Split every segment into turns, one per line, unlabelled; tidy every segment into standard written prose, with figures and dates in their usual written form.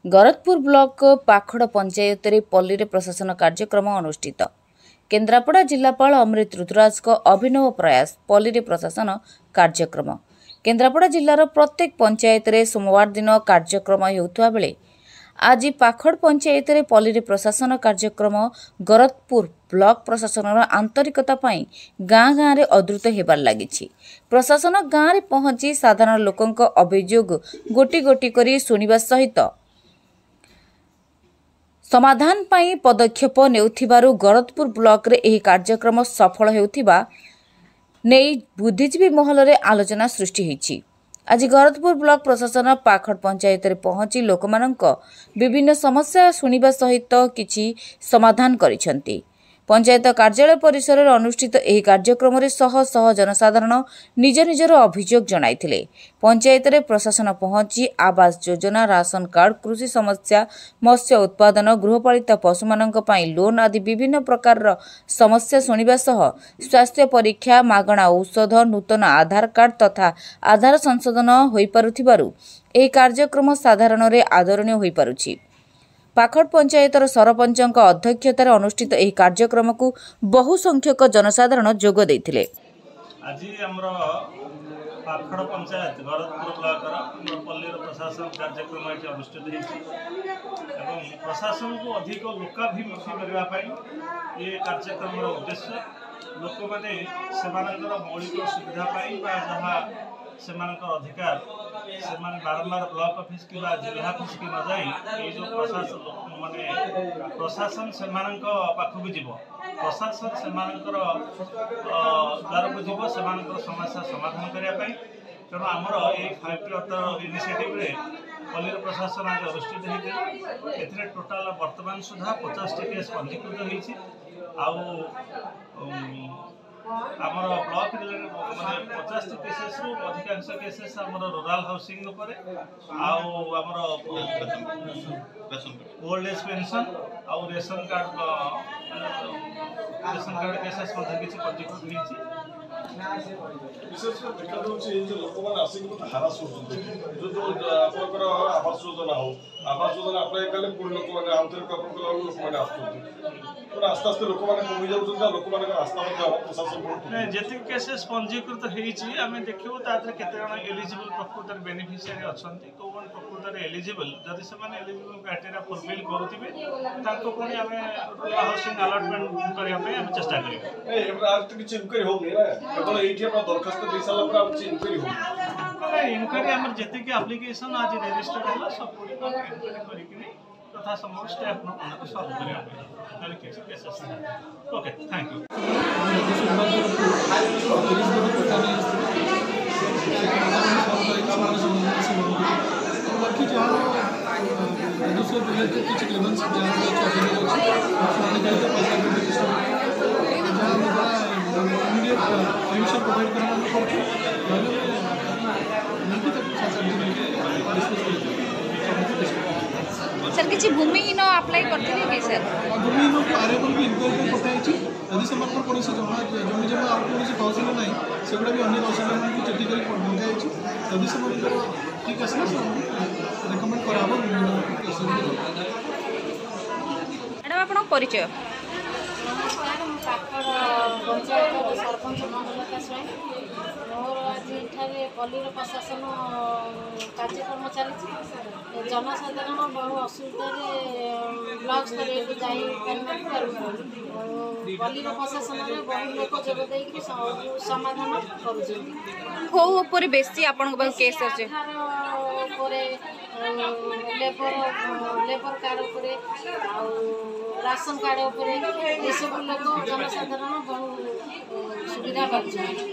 Garadpur block ପାଖଡ଼ ପଞ୍ଚାୟତରେ ପଲ୍ଲୀରେ ପ୍ରଶାସନ କାର୍ଯ୍ୟକ୍ରମ ଅନୁଷ୍ଠିତ। କେନ୍ଦ୍ରାପଡ଼ା ଜିଲ୍ଲାପାଳ ଅମୃତ ଋତୁରାଜଙ୍କ ଅଭିନବ ପ୍ରୟାସ ପଲ୍ଲୀରେ ପ୍ରଶାସନ କାର୍ଯ୍ୟକ୍ରମ। କେନ୍ଦ୍ରାପଡ଼ା ଜିଲ୍ଲାର ପ୍ରତ୍ୟେକ ପଞ୍ଚାୟତରେ ସୋମବାର ଦିନ କାର୍ଯ୍ୟକ୍ରମ ହେଉଥିବା ବେଳେ ଆଜି ପାଖଡ଼ ପଞ୍ଚାୟତରେ ପଲ୍ଲୀରେ ପ୍ରଶାସନ କାର୍ଯ୍ୟକ୍ରମ ଗରଦପୁର ବ୍ଲକ ପ୍ରଶାସନର ଆନ୍ତରିକତା ପାଇଁ ଗାଁ ଗାଁରେ ଅଦୃତ ହେବାରେ ଲାଗିଛି। ପ୍ରଶାସନ ଗାଁରେ ପହଞ୍ଚି ସାଧାରଣ ଲୋକଙ୍କ ଅଭିଯୋଗ ଗୋଟି ଗୋଟି କରି ଶୁଣିବା ସହିତ ସମାଧାନ ପାଇଁ ପଦକ୍ଷେପ ନେଉଥିବାରୁ ଗରଦପୁର ବ୍ଲକରେ ଏହି କାର୍ଯ୍ୟକ୍ରମ ସଫଳ ହେଉଥିବା ନେଇ ବୁଦ୍ଧିଜୀବୀ ମହଲରେ ଆଲୋଚନା ସୃଷ୍ଟି ହୋଇଛି। ଆଜି ଗରଦପୁର ବ୍ଲକ ପ୍ରଶାସନ ପାଖଡ଼ ପଞ୍ଚାୟତରେ ପହଞ୍ଚି ଲୋକମାନଙ୍କ ବିଭିନ୍ନ ସମସ୍ୟା ଶୁଣିବା ସହିତ କିଛି ସମାଧାନ କରିଛନ୍ତି। ପଞ୍ଚାୟତ କାର୍ଯ୍ୟାଳୟ ପରିସରରେ ଅନୁଷ୍ଠିତ ଏହି କାର୍ଯ୍ୟକ୍ରମରେ ଶହ ଶହ ଜନସାଧାରଣ ନିଜ ନିଜର ଅଭିଯୋଗ ଜଣାଇଥିଲେ। ପଞ୍ଚାୟତରେ ପ୍ରଶାସନ ପହଞ୍ଚି ଆବାସ ଯୋଜନା, ରାସନ କାର୍ଡ, କୃଷି ସମସ୍ୟା, ମତ୍ସ୍ୟ ଉତ୍ପାଦନ, ଗୃହପାଳିତ ପଶୁମାନଙ୍କ ପାଇଁ ଲୋନ୍ ଆଦି ବିଭିନ୍ନ ପ୍ରକାରର ସମସ୍ୟା ଶୁଣିବା ସହ ସ୍ୱାସ୍ଥ୍ୟ ପରୀକ୍ଷା, ମାଗଣା ଔଷଧ, ନୂତନ ଆଧାର କାର୍ଡ ତଥା ଆଧାର ସଂଶୋଧନ ହୋଇପାରୁଥିବାରୁ ଏହି କାର୍ଯ୍ୟକ୍ରମ ସାଧାରଣରେ ଆଦରଣୀୟ ହୋଇପାରୁଛି। ପାଖଡ଼ ପଞ୍ଚାୟତର ସରପଞ୍ଚଙ୍କ ଅଧ୍ୟକ୍ଷତାରେ ଅନୁଷ୍ଠିତ ଏହି କାର୍ଯ୍ୟକ୍ରମକୁ ବହୁ ସଂଖ୍ୟକ ଜନସାଧାରଣ ଯୋଗ ଦେଇଥିଲେ।
ଆଜି ଆମର ପାଖଡ଼ ପଞ୍ଚାୟତ ଗରଦପୁର ବ୍ଲକର ଆମର ପଲ୍ଲୀର ପ୍ରଶାସନ କାର୍ଯ୍ୟକ୍ରମ ଏଠି ଅନୁଷ୍ଠିତ ହେଇଛି ଏବଂ ପ୍ରଶାସନକୁ ଅଧିକ ଲୋକାଭିମୁଖୀ କରିବା ପାଇଁ ଏ କାର୍ଯ୍ୟକ୍ରମର ଉଦ୍ଦେଶ୍ୟ। ଲୋକମାନେ ସେମାନଙ୍କର ମୌଳିକ ସୁବିଧା ପାଇଁ ବା ଯାହା ସେମାନଙ୍କର ଅଧିକାର, ସେମାନେ ବାରମ୍ବାର ବ୍ଲକ ଅଫିସ କିମ୍ବା ଜିଲ୍ଲା ଅଫିସକି ନ ଯାଇ ଏଇ ଯେଉଁ ପ୍ରଶାସନ ମାନେ ପ୍ରଶାସନ ସେମାନଙ୍କ ପାଖକୁ ଯିବ, ପ୍ରଶାସନ ସେମାନଙ୍କର ଦ୍ୱାରକୁ ଯିବ ସେମାନଙ୍କର ସମସ୍ୟା ସମାଧାନ କରିବା ପାଇଁ। ତେଣୁ ଆମର ଏଇ ଫାଇଭ୍ ଟି ଅଟୋ ଇନିସିଏଟିଭରେ ପଲ୍ଲୀର ପ୍ରଶାସନ ଆଜି ଅନୁଷ୍ଠିତ ହେଇଥିଲା। ଏଥିରେ ଟୋଟାଲ ବର୍ତ୍ତମାନ ସୁଦ୍ଧା 50ଟି କେସ୍ ପଞ୍ଜୀକୃତ ହେଇଛି। ଆଉ ଆମର ବ୍ଲକ ମାନେ 50ଟି କେସେସ୍ରୁ ଅଧିକାଂଶ କେସେସ୍ ଆମର ରୁରାଲ ହାଉସିଂ ଉପରେ, ଆଉ ଆମର ଓଲ୍ଡ ଏଜ୍ ପେନ୍ସନ୍, ଆଉ ରେସନ କାର୍ଡ କେସେସ୍ ମଧ୍ୟ କିଛି ପଞ୍ଜୀକୃତ ହେଇଛି।
ବିଶେଷ କରି ଦେଖାଯାଉଛି ଯେ ଲୋକମାନେ ଆସିକି ବହୁତ ହାରାସ କରୁଛନ୍ତି। ଯୋଉ ଯୋଉ ଆପଣଙ୍କର ଆବାସ ଯୋଜନା ହଉ, ଆବାସ ଯୋଜନା ଆପ୍ଲାଏ କଲେ ପୁଣି ଲୋକମାନେ ଆଉଥରେ ଆପଣ କଲା ବେଳକୁ ଲୋକମାନେ ଆସୁଛନ୍ତି। ତେଣୁ ଆସ୍ତେ ଆସ୍ତେ ଲୋକମାନେ କମି ଯାଉଛନ୍ତି ଆଉ ଲୋକମାନଙ୍କର ଆସ୍ଥା ମଧ୍ୟ ପ୍ରଶାସନ ବହୁତ।
ନାଇଁ, ଯେତିକି କେସେସ୍ ପଞ୍ଜୀକୃତ ହେଇଛି, ଆମେ ଦେଖିବୁ ତା ଦେହରେ କେତେ ଜଣ ଏଲିଜିବଲ୍ ପ୍ରକୃତରେ ବେନିଫିସିଆରୀ ଅଛନ୍ତି, କେଉଁମାନେ ପ୍ରକୃତରେ ଏଲିଜିବଲ୍। ଯଦି ସେମାନେ ଏଲିଜିବଲ୍ କ୍ରାଇଟେରିଆ ଫୁଲଫିଲ୍ କରୁଥିବେ, ତାଙ୍କୁ ପୁଣି ଆମେ ହାଉସିଂ ଆଲଟମେଣ୍ଟ କରିବା ପାଇଁ ଆମେ ଚେଷ୍ଟା କରିବୁ।
ନାଇଁ, ଏବେ ଆଉ ତ କିଛି ଇନକ୍ୱାରି ହଉନି ନା। କେବଳ ଏଇଠି ଆପଣ ଦରଖାସ୍ତ ଦେଇ ସାରିଲା ପରେ ଆଉ କିଛି ଇନକ୍ୱାରି ହଉନି।
ନାଇଁ, ଇନକ୍ୱାରି ଆମର ଯେତିକି ଆପ୍ଲିକେସନ୍ ଆଜି ରେଜିଷ୍ଟର୍ଡ ହେଲା, ସବୁଗୁଡ଼ିକ ଆମେ ଇନକ୍ୱାରି କରିକିନି ଯଥା ସମ୍ଭବ ଷ୍ଟେପ୍ ନେବୁ ତାକୁ ସଲ୍ଭ କରିବା ପାଇଁ। ତାହେଲେ କିଛି କେସେସ୍ ନାହିଁ। Okay, thank you.
ରାଜସ୍ୱ ବିଭାଗ ତରଫରୁ 30 ଗୋଟି ପଟ୍ଟା ନେଇ ଆସିଥିଲେ। ସେ ସଲ୍ଭ କରିକି ସେମାନେ ସମସ୍ତେ ଗ୍ରହଣ। ବାକି ଯାହାର ରାଜସ୍ୱ ରିଲେଟେଡ୍ କିଛି ଗ୍ରିଭାନ୍ସ ଯାହା ବି ଅଛି, ଅଭିଯୋଗ ଅଛି, ଶୁଣାଣି କରିକି ପଇସା ବି ଚେଷ୍ଟା କରୁଛୁ। ଯାହା ଆମ ଦ୍ୱାରା ଇମିଡ଼ିଏଟ୍ ସଲ୍ୟୁସନ୍ ପ୍ରୋଭାଇଡ଼ କରିବା ଆମେ କରୁଛୁ, ନହେଲେ ନେଇକି ତାକୁ 7-8 ଦିନ ଭିତରେ ଡିସ୍କସ୍ କରିକି ସମସ୍ତେ ଡିସ୍କସ୍।
ସାର୍, କିଛି ଭୂମିହୀନ ଆପ୍ଲାଏ କରିଥିଲେ କି ସାର୍?
ଭୂମିହୀନକୁ ଆରେବଲ୍ ବି ଇନକ୍ୱାରି ପାଇଁ ପଠାଯାଇଛି। ଯଦି ସେମାନଙ୍କର କୌଣସି ଜମା ଜମି ଜମା ଆଉ କୌଣସି ତହସିଲ ନାହିଁ, ସେଗୁଡ଼ା ବି ଅନ୍ୟ ତହସିଲମାନଙ୍କୁ ଚିଠି କରି ମଗାଯାଇଛି। ଯଦି ସେମାନଙ୍କର ଠିକ୍ ଆସିଲା, ସେମାନଙ୍କୁ ରେକମେଣ୍ଡ କରାହେବ ଭୂମିହୀନମାନଙ୍କୁ ଏସବୁ।
ମ୍ୟାଡ଼ାମ୍, ଆପଣଙ୍କ ପରିଚୟ?
ନମସ୍କାର, ମୁଁ ପାଖଡ଼ ପଞ୍ଚାୟତର ସରପଞ୍ଚ ମନଲତା ସ୍ୱାଇଁ। ମୋର ଆଜି ଏଠାରେ ପଲ୍ଲୀର ପ୍ରଶାସନ କାର୍ଯ୍ୟକ୍ରମ ଚାଲିଛି। ଜନସାଧାରଣ ବହୁ ଅସୁବିଧାରେ ବ୍ଲକ ସ୍ତରୀୟକୁ ଯାଇପାରିନଥିବାରୁ ପଲ୍ଲୀର ପ୍ରଶାସନରେ ବହୁ ଲୋକ ଯୋଗ ଦେଇକି ସବୁ ସମାଧାନ କରୁଛନ୍ତି।
କୋଉ ଉପରେ ବେଶୀ ଆପଣଙ୍କ ପାଖକୁ କେସ୍ ଆସୁଛି?
ଆଧାର ଉପରେ, ଲେବର କାର୍ଡ଼ ଉପରେ ଆଉ ରାସନ କାର୍ଡ଼ ଉପରେ, ଏସବୁ ଲୋକ ଜନସାଧାରଣ ବହୁ ସୁବିଧା ପାଉଛନ୍ତି।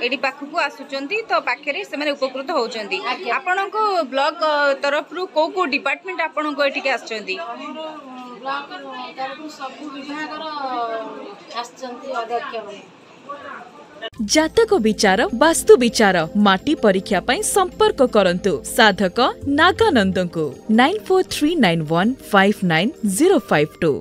ଏଇଠି ପାଖକୁ ଆସୁଛନ୍ତି ତ ପାଖରେ ସେମାନେ ଉପକୃତ ହେଉଛନ୍ତି।
ଆଜ୍ଞା।
ଆପଣଙ୍କ ବ୍ଲକ ତରଫରୁ କୋଉ କୋଉ ଡିପାର୍ଟମେଣ୍ଟ ଆପଣଙ୍କ ଏଠିକି ଆସୁଛନ୍ତି?
ଆମର ବ୍ଲକ ତରଫରୁ ସବୁ ବିଭାଗର ଆସିଛନ୍ତି ଅଧ୍ୟକ୍ଷମାନେ।
ଜାତକ ବିଚାର, ବାସ୍ତୁ ବିଚାର, ମାଟି ପରୀକ୍ଷା ପାଇଁ ସମ୍ପର୍କ କରନ୍ତୁ ସାଧକ ନାଗାନନ୍ଦଙ୍କୁ 9439159052।